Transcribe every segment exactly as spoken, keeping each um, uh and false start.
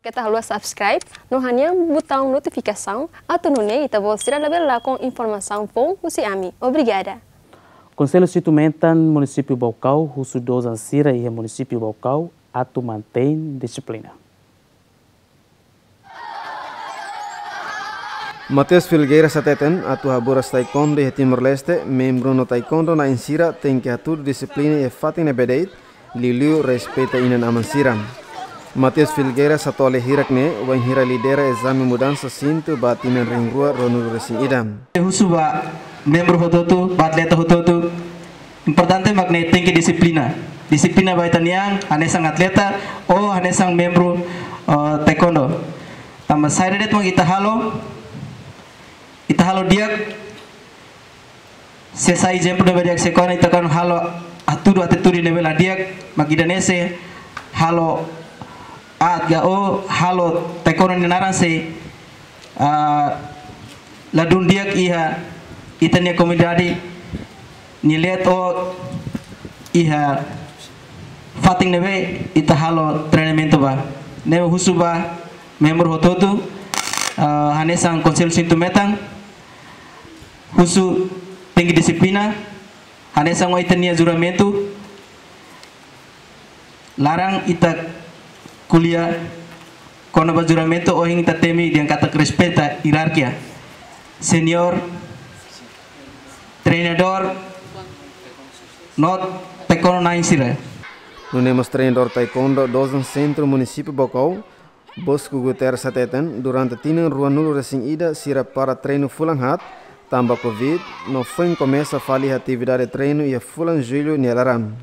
Keta haluha subscribe no hanehan butaun notifikasaun atu nune'e ita-boot sira labele lakon informasaun foun husi ami. Obrigada. Konsellu Sintu Metan, Munisípiu Baucau, husu dozan sira iha Munisípiu Baucau atu mantein dixiplina. Mateus Filgueiras hateten, atu haburas taekwondo iha Timor-Leste, membru no taekwondo na'in sira tenke hatudu dixiplina iha fatin ne'ebé de'it, liuliu respeita inan-aman sira. Mateus Filgueiras hato'o lia hirak ne'e wainhira lidera ezame mudansa sintu ba tinan rihun rua ruanulu resin ida. Husu ba membru hotu-hotu, ba atleta hotu-hotu, importante mak ne'e tenke dixiplina. Dixiplina ba ita-nia an, hanesan atleta ou hanesan membru, eh, taekwondo. Tanba saida de'it mak ita halo, ita halo di'ak, se sai ezemplu ne'ebé di'ak, se kuandu ita kan halo hatudu atitude ne'ebé la di'ak, mak ida-ne'e sei halo aat ka ou halo taekwondo nia naran sei, ah, ladún di'ak iha ita-nia komunidade nia leet ou iha fatin ne'ebé ita halo treinamentu ba. Ne'e husu ba membru hotu-hotu, ah, hanesan Konsellu Sintu Metan, husu tenke dixiplina, hanesan ohin ita-nia juramentu, laran ita ko'alia kona-ba juramentu, ohin ita temi dehan katak respeita ierarkia, senior, treinadór, no taekwondo na'in sira. Nune'e mós treinadór taekwondo dozan Sentru Munisípiu Baucau, Bosco Guterres hateten, durante tinan ruanulu resin ida sira para treinu fulan haat, tanba covid, no foin komesa fali atividade treinu iha fulan Jullu nia laran.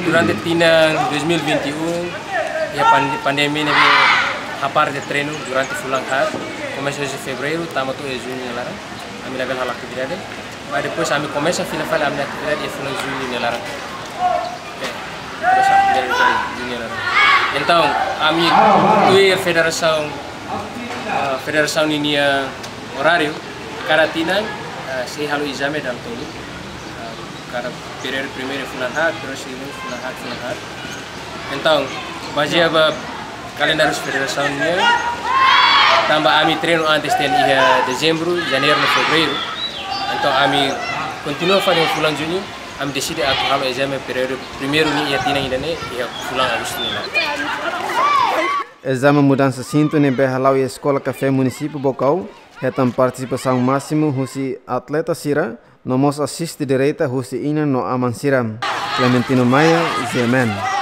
Durante tinan dois mil e vinte e um, iha pan-, pandemia ne'ebé hapara ita-nia treinu durante fulan haat, komesa husi Fevereiru, tama to'o iha Juñu nia laran, ami labele halo atividade. Mas depois ami komesa fila fali ami-nia atividade iha fulan Jullu nia laran. Eh, terus atividade iha Jullu nia laran. Entaun, ami tuir federasaun, ah, federasaun ninia oráriu, kada tinan, ah, sei halo ezame dala tolu. Ah, kada períodu primeiru fulan haat, terus segundu fulan haat, fulan haat. Entaun, bazeia ba kalendáriu federasaun nian, tanba ami treinu antes tiha iha Dezembru, Janeiru no Fevereiru. Entaun ami kontinua fali fulan Juñu, ami deside atu halo ezame períodu primeiru nian iha tinan ida-ne'e iha fulan Agostu nian. Ezame mudansa sintu ne'ebé hala'o iha Eskola Kafé Munisípiu Baucau, hetan partisipasaun másimu husi atleta sira, no mós asiste direta husi inan no aman sira. Clementino Maia, G M N.